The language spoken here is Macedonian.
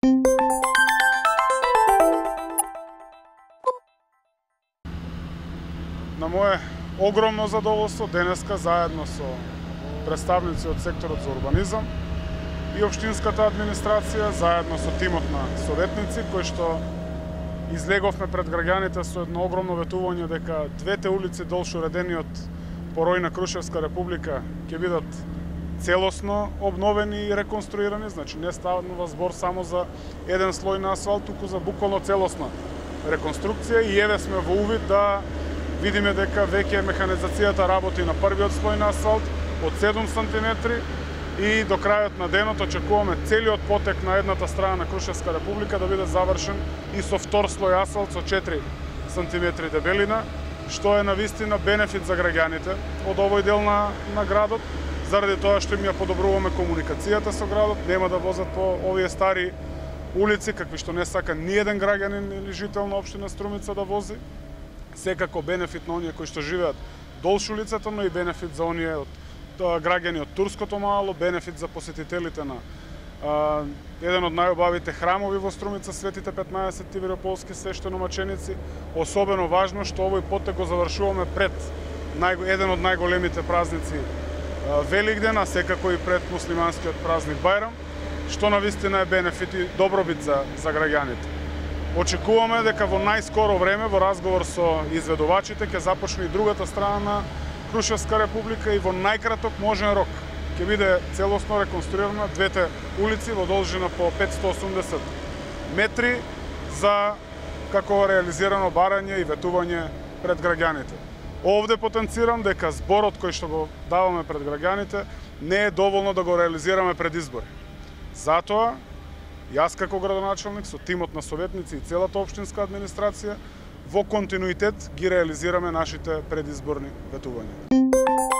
На мое огромно задоволство, денеска заедно со представници од секторот за урбанизам и општинската администрација, заедно со тимот на советници, кои што излеговме пред граѓаните со едно огромно ветување дека двете улици долж уредени од порој на Крушевска република ќе бидат целосно обновени и реконструирани, значи не станува збор само за еден слој на асфалт, туку за буквално целосна реконструкција и еве сме во увид да видиме дека веќе механизацијата работи на првиот слој на асфалт од 7 сантиметри и до крајот на денот очекуваме целиот потек на едната страна на Крушевска република да биде завршен и со втор слој асфалт со 4 сантиметри дебелина, што е навистина бенефит за граѓаните од овој дел на градот, заради тоа што им ја подобруваме комуникацијата со градот, нема да возат по овие стари улици, какви што не сака ни еден граѓанин или жител на општина Струмица да вози. Секако бенефит на оние кои што живеат долж улицата, но и бенефит за оние граѓани од Турското мало, бенефит за посетителите на еден од најубавите храмови во Струмица, Светите 15 Тивирополски свештеномаченици. Особено важно што овој потек го завршуваме пред еден од најголемите празници Великден, а секако и пред муслиманскиот празник Бајрам, што навистина е бенефит и добробит за граѓаните. Очекуваме дека во најскоро време, во разговор со изведувачите, ќе започне и другата страна на Крушевска република и во најкраток можен рок ќе биде целосно реконструирана двете улици во должина по 580 метри за како реализирано барање и ветување пред граѓаните. Овде потенцирам дека зборот кој што го даваме пред граѓаните не е доволно да го реализираме пред избори. Затоа, јас како градоначалник со тимот на советници и целата општинска администрација во континуитет ги реализираме нашите предизборни ветувања.